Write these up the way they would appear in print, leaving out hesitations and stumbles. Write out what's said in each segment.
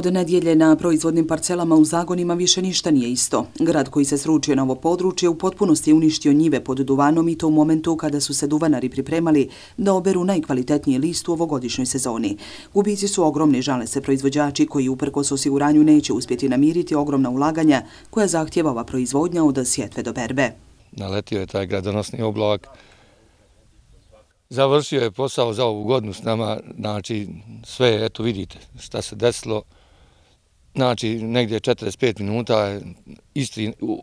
Od nedjelje na proizvodnim parcelama u Zagonima više ništa nije isto. Grad koji se sručio na ovo područje u potpunosti je uništio njive pod duvanom i to u momentu kada su se duvanari pripremali da oberu najkvalitetniji list u ovogodišnjoj sezoni. Gubici su ogromni, žale se proizvođači koji uprkos osiguranju neće uspjeti namiriti ogromna ulaganja koja zahtjeva ova proizvodnja od sjetve do berbe. Naletio je taj gradonosni oblak. Završio je posao za ovu godinu s nama, znači sve, eto vidite šta se desilo. Znači negdje 45 minuta,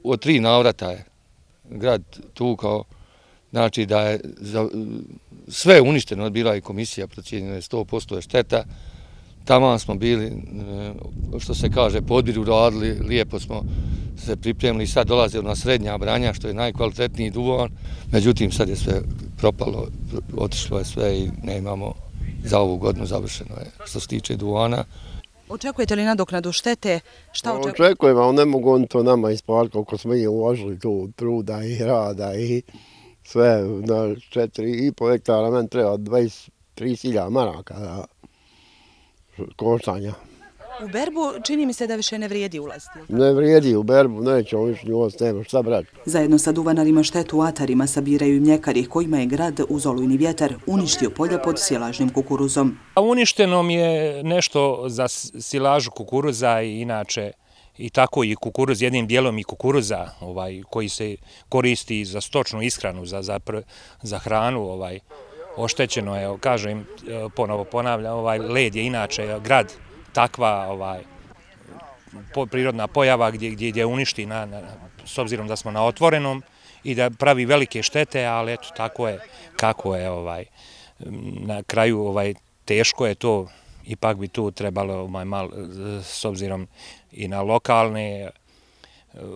od 3 navrata je grad tukao, znači da je sve uništeno, bila je komisija, procijenjena je 100% je šteta. Tamo smo bili, što se kaže, podbir uradili, lijepo smo se pripremili i sad dolaze na srednja branja, što je najkvalitetniji duvan. Međutim, sad je sve propalo, otišlo je sve i nemamo za ovu godinu, završeno je što se tiče duvana. Očekujete li nadoknadu štete? Šta očekujete? Očekujem, ali ne mogu oni to nama isplatiti koliko smo i uložili tu truda i rada i sve na 4,5 hektara. Meni treba 23.000 maraka za koštanja. U berbu čini mi se da više ne vrijedi ulaziti. Ne vrijedi u berbu, nećemo više ulaziti, nema šta brati. Zajedno sa duvanarima štetu u atarima sabiraju i mljekari kojima je grad uz olujni vjetar uništio polja pod silažnim kukuruzom. Uništeno mi je nešto za silažu kukuruza i inače i tako i kukuruz, jednim dijelom i kukuruza koji se koristi za stočnu ishranu, za hranu. Oštećeno je, kažem, ponovo ponavljam, led je inače grad takva prirodna pojava gdje uništi s obzirom da smo na otvorenom i da pravi velike štete, ali eto tako je kako je na kraju teško je to, ipak bi tu trebalo malo s obzirom i na lokalne,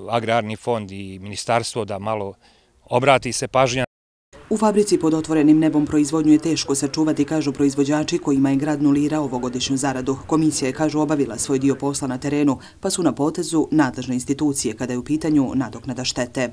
agrarni fond i ministarstvo da malo obrati se pažnja. U fabrici pod otvorenim nebom proizvodnju je teško sačuvati, kažu proizvođači kojima je grad nulirao ovogodišnju zaradu. Komisija je, kažu, obavila svoj dio posla na terenu, pa su na potezu nadležne institucije kada je u pitanju nadoknada štete.